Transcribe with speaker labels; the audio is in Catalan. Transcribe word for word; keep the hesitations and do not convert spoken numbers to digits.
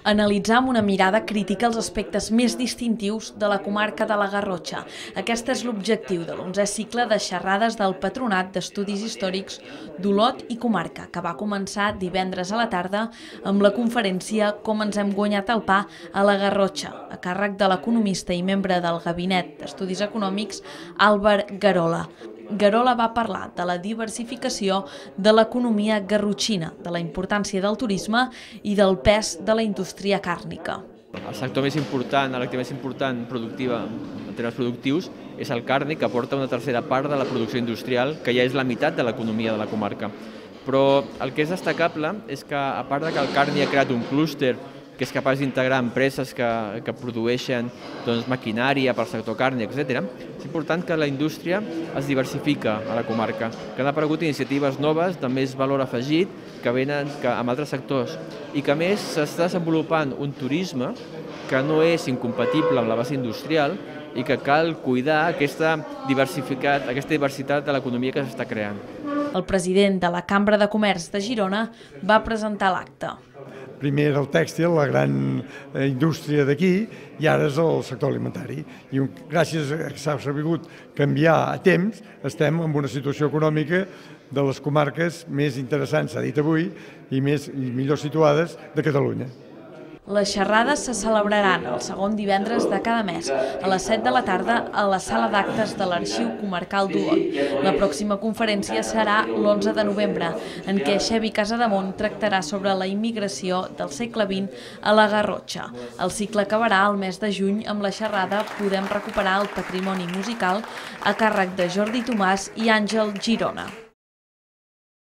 Speaker 1: Analitzar amb una mirada crítica els aspectes més distintius de la comarca de la Garrotxa. Aquest és l'objectiu de l'onzè cicle de xerrades del Patronat d'Estudis Històrics d'Olot i Comarca, que va començar divendres a la tarda amb la conferència Com ens hem guanyat el pa a la Garrotxa, a càrrec de l'economista i membre del Gabinet d'Estudis Econòmics, Àlvar Guerola. Guerola va parlar de la diversificació de l'economia garrotxina, de la importància del turisme i del pes de la indústria càrnica.
Speaker 2: El sector més important, l'activitat més important productiva en termes productius és el càrnic, que aporta una tercera part de la producció industrial, que ja és la meitat de l'economia de la comarca. Però el que és destacable és que, a part de que el càrnic ha creat un clúster que és capaç d'integrar empreses que, que produeixen doncs, maquinària per al sector càrnic, etcètera, és important que la indústria es diversifica a la comarca, que han aparegut iniciatives noves de més valor afegit que venen que, amb altres sectors i que a més s'està desenvolupant un turisme que no és incompatible amb la base industrial i que cal cuidar aquesta, diversificat, aquesta diversitat de l'economia que s'està creant.
Speaker 1: El president de la Cambra de Comerç de Girona va presentar l'acte.
Speaker 3: Primer era el tèxtil, la gran indústria d'aquí, i ara és el sector alimentari. I gràcies a que s'ha sabut canviar a temps, estem en una situació econòmica de les comarques més interessants, s'ha dit avui, i, més, i millor situades de Catalunya.
Speaker 1: Les xerrades se celebraran el segon divendres de cada mes, a les set de la tarda, a la sala d'actes de l'Arxiu Comarcal d'Olot. La pròxima conferència serà l'onze de novembre, en què Xevi Casademont tractarà sobre la immigració del segle vint a la Garrotxa. El cicle acabarà el mes de juny amb la xerrada Podem recuperar el patrimoni musical, a càrrec de Jordi Tomàs i Àngel Girona.